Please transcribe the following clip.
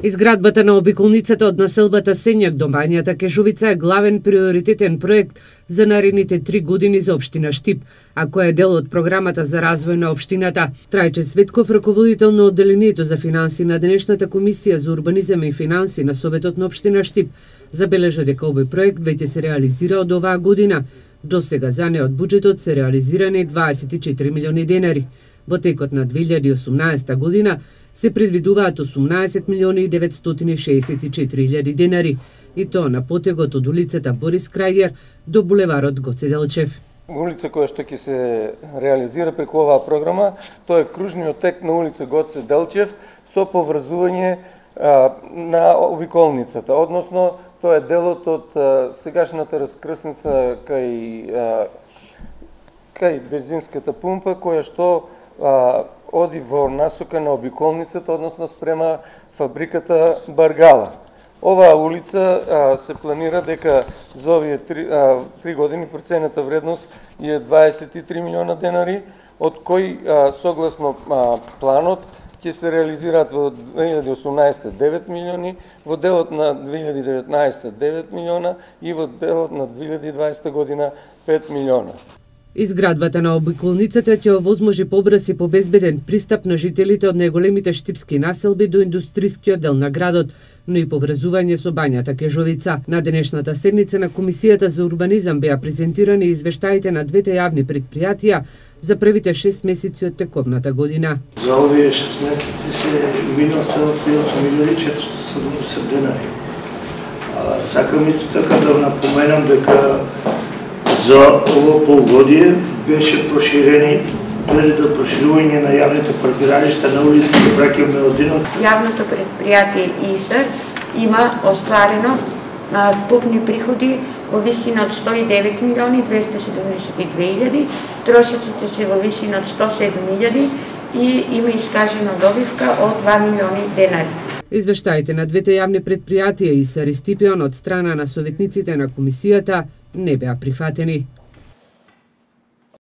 Изградбата на обиколницата од населбата Сенјак до Бањата Кежовица е главен приоритетен проект за наредните 3 години за општина Штип, а кој е дел од програмата за развој на општината. Трајче Светков, раководител на одделението за финанси на денешната комисија за урбанизам и финанси на Советот на општина Штип, забележа дека овој проект веќе се реализира од оваа година. До сега за неа од буџетот се реализирани 24 милиони денари. Во текот на 2018 година се предвидуваат 18 милиони 964 илјади денари, и тоа на потегот од улицата Борис Крајер до булеварот Гоце Делчев. Улица која што ќе се реализира преку оваа програма, тоа е кружниот тек на улица Гоце Делчев со поврзување на обиколницата, односно тоа е делот од сегашната раскрсница кај бензинската пумпа, која што оди во насока на обиколницата, односно спрема фабриката Баргала. Оваа улица се планира дека за овие 3 години проценета вредност е 23 милиона денари, од кои согласно планот ќе се реализираат во 2018 9 милиони, во делот на 2019 9 милиона и во делот на 2020 година 5 милиона. Изградбата на обиколницата ќе овозможи побрз и побезбеден пристап на жителите од најголемите штипски населби до индустрискиот дел на градот, но и поврзување со Бањата Кежовица. На денешната седница на Комисијата за урбанизам беа презентирани извештаите на двете јавни предпријатија за првите 6 месеци од тековната година. За овие 6 месеци се минал 7.470 денари. Сакам исто така да напоменам дека за ово полугодие беше проширени до проширување на јавните паркиралишта на улиците Браќа Мелодинов. Јавното предпријатие ИСАР има остварено вкупни приходи во висина од 109 милиони 272 илјади, трошоците се во висина од 107 илјади и има искажена добивка од 2 милиони денари. Извештаите на двете јавни предпријатија ИСАР и Стипион од страна на советниците на комисијата не беа прифатени.